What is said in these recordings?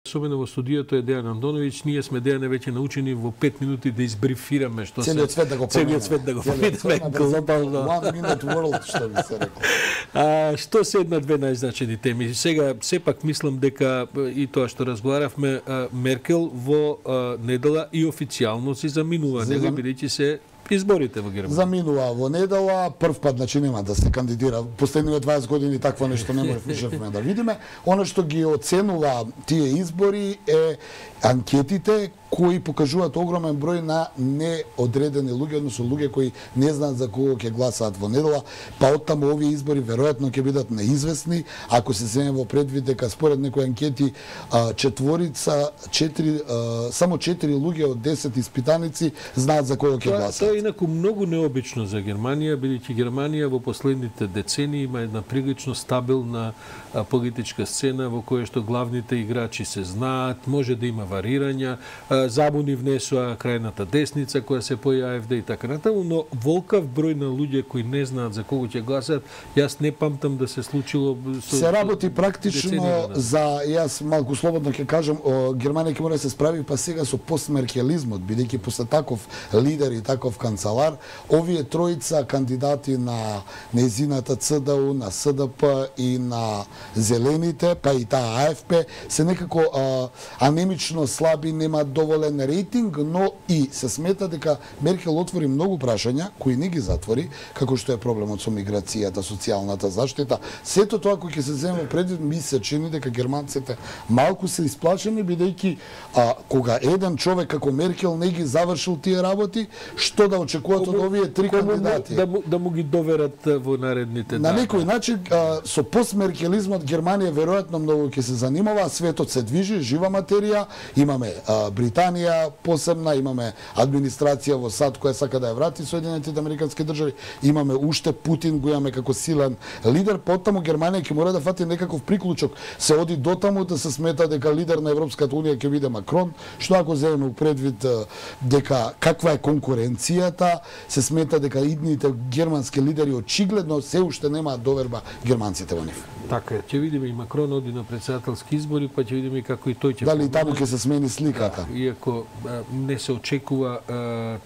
Особено во студиото е Дејан Андоновиќ, ние сме Дејане веќе научени во 5 минути да избрифираме што целиот свет да го поминеме. Целиот свет да го поминеме глобално. One minute world, што би се рекло. Што се една-две најзначени теми? Сега сепак мислам дека и тоа што разговаравме, Меркел во недела и официјално си заминува, нели бидејќи се изборите во Германија. Заминува во недела, прв пат значи нема да се кандидира. Последните 20 години такво нешто не можевме да видиме. Она што ги оценува тие избори е анкетите кои покажуваат огромен број на неодредени луѓе, односно луѓе кои не знаат за кого ќе гласаат во недела, па оттаму овие избори веројатно ќе бидат неизвестни, ако се земе во предвид дека според некои анкети само 4 луѓе од 10 испитаници знаат за кого ќе гласаат. Тоа е инаку многу необично за Германија, бидејќи Германија во последните децении има една прилично стабилна политичка сцена во која што главните играчи се знаат, може да има варирања, забуни внесува крајната десница која се појави АФД и така натаму, но волкав број на луѓе кои не знаат за кого ќе гласат, јас не памтам да се случило се работи практично за, јас малку слободно ќе кажам, Германија ќе мора да се справи па сега со постмеркелизмот, бидејќи после таков лидер и таков канцелар, овие тројца кандидати на нејзината ЦДУ, на СДП и на Зелените, па и таа АФП, се некако анемично слаби, немаат доволен рейтинг, но и се смета дека Меркел отвори многу прашања кои не ги затвори, како што е проблемот со миграцијата, социјалната заштита. Сето тоа кој ќе се земе предвид, ми се чини дека германците малку се исплашени, бидејќи кога еден човек како Меркел не ги завршил тие работи, што да очекуваат од овие три кандидати? Да му ги доверат во наредните дани. На некој начин со постмеркелизмот Германија веројатно многу ќе се занимава, светот се движи, жива материја, имаме Британија посебна, имаме администрација во САД која сака да ја врати Соединетите американски држави, имаме уште Путин, го имаме како силен лидер, потаму Германија ќе мора да фати некаков приклучок. Се оди дотаму да се смета дека лидер на Европската унија ќе биде Макрон, што ако земеме предвид дека каква е конкуренцијата, се смета дека идните германски лидери очигледно се уште немаат доверба германците во нив. Така е, ќе видиме и Макрон оди на претседателски избори, па ќе видиме како и тој ќе дали таму ќе се смени сликата. Да, иако не се очекува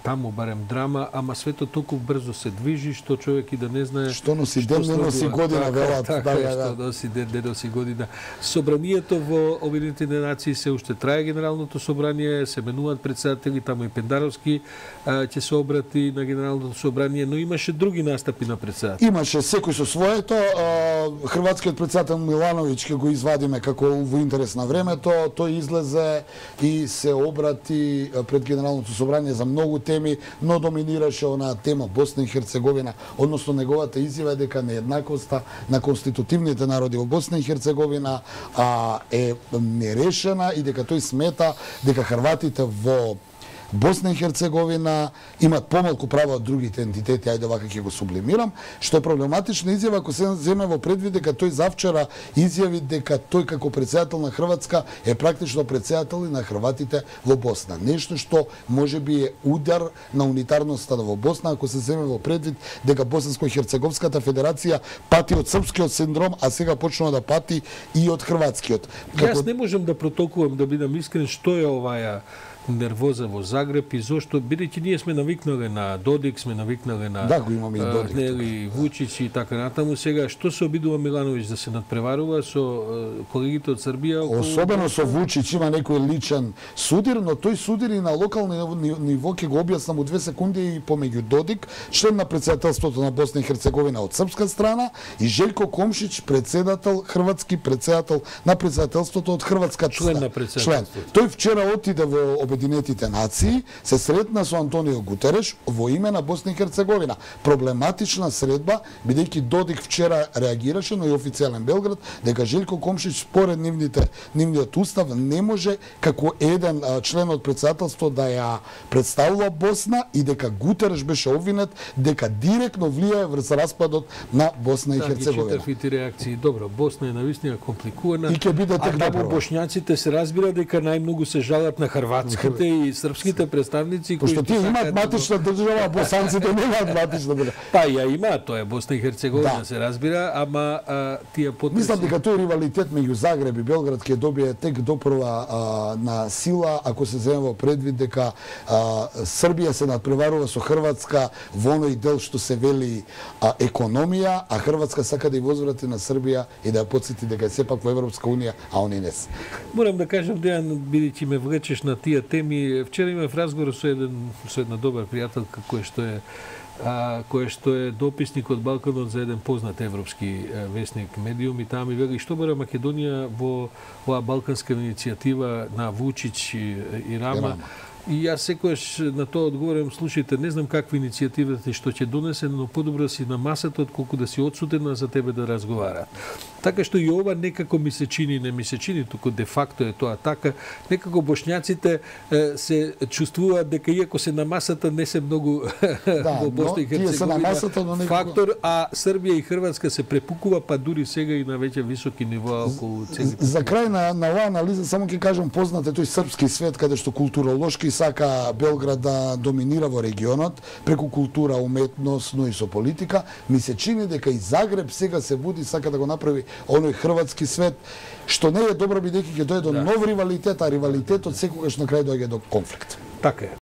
таму барем драма, ама светот толку брзо се движи што човек и да не знае што носи ден, не носи година, велат. Така, што носи ден, не носи година. Собранието во Обединетите нации се уште трае, генералното собрание, се менуваат претседатели, таму и Пендаровски ќе се обрати на генералното собрание, но имаше други настапи на претседатели. Имаше секој со своето, хрватскиот претседател Милановиќ ќе го извадиме како во интерес на времето, тој излезе и се обрати пред генералното собрание за многу теми, но доминираше онаа тема Босна и Херцеговина, односно неговата изјава дека нееднаквоста на конститутивните народи во Босна и Херцеговина е нерешена и дека тој смета дека хрватите во Босна и Херцеговина имат помалку права од другите ентитети, ајде вака ќе го сублимирам, што е проблематична изјава ако се земе во предвид дека тој завчера изјави дека тој како претседател на Хрватска е практично претседател и на хрватите во Босна. Нешто што можеби е удар на унитарноста во Босна, ако се земе во предвид дека Босанско-Херцеговската федерација пати од српскиот синдром, а сега почнува да пати и од хрватскиот. Јас не можам да протолкувам, да бидам искрен, што е оваа нервоза во Загреб и зошто, бидејќи ние сме навикнале на Додик, сме навикнале на да, го имаме и Додик, Нели Вучич и така натаму. Сега што се обидува Милановиќ да се надпреварува со колегите од Србија? Особено со Вучич има некој личен судир, но тој судир и на локално ниво ќе го објаснам у 2 секунди и помеѓу Додик, член на претседателството на Босна и Херцеговина од српска страна, и Желјко Комшич, председател, хрватски председател на претседателството од хрватска член на претседателството. Тој вчера отиде во Обединетите нации, се сретна со Антонио Гутереш во име на Босна и Херцеговина. Проблематична средба, бидејќи Додик вчера реагираше, но и официјален Белград, дека Желјко Комшич според нивниот устав не може како еден член од претседателство да ја представува Босна и дека Гутереш беше обвинет дека директно влијае врз распадот на Босна и Херцеговина. Ги читав и реакции. Добро, Босна е навистина компликувана. И ќе биде тек добро. Боšnjacите се разбира дека најмногу се жалат на Хрватска. хрватските и српските представници кои што тие имаат матична држава, а босанците немаат матична држава. Па ја имаат, тоа е Босна и Херцеговина, се разбира, ама тие потреси... Мислам дека тој ривалитет меѓу Загреб и Белград ќе добие тек допрва на сила ако се земе во предвид дека Србија се надпреварува со Хрватска во оној дел што се вели економија, а Хрватска сака да ја возврати на Србија и да ја потсети дека е сепак во Европска унија, а они не се. Морам да кажам, Дејан, бидејќи ме влечеш на тие теми, вчера имав разговор со една добра пријателка кој што е дописник од Балканот за еден познат европски весник медиум, и таа ми вели што бара Македонија во оваа балканска иницијатива на Вучич и Рама. И јас секогаш на тоа одговорам, слушајте, не знам каква иницијативата и што ќе донесе, но подобро си на масата отколку да си одсутен за тебе да разговараат. Така што и ова некако ми се чини, не ми се чини, туку де факто е тоа така, некако бошњаците се чувствуваат дека иако се на масата не се многу во Босна и Херцеговина фактор, а Србија и Хрватска се препукува, па дури сега и на веќе високи нивоа околу целите. За крај на оваа анализа само ќе кажам, познат е тој српски свет каде што културолошки сака Белград да доминира во регионот преку култура, уметност, но и со политика. Ми се чини дека и Загреб сега се буди, сака да го направи оној хрватски свет, што не е добро бидејќи ќе дојде до нов ривалитет, а ривалитетот секогаш на крај доаѓа до конфликт. Така е.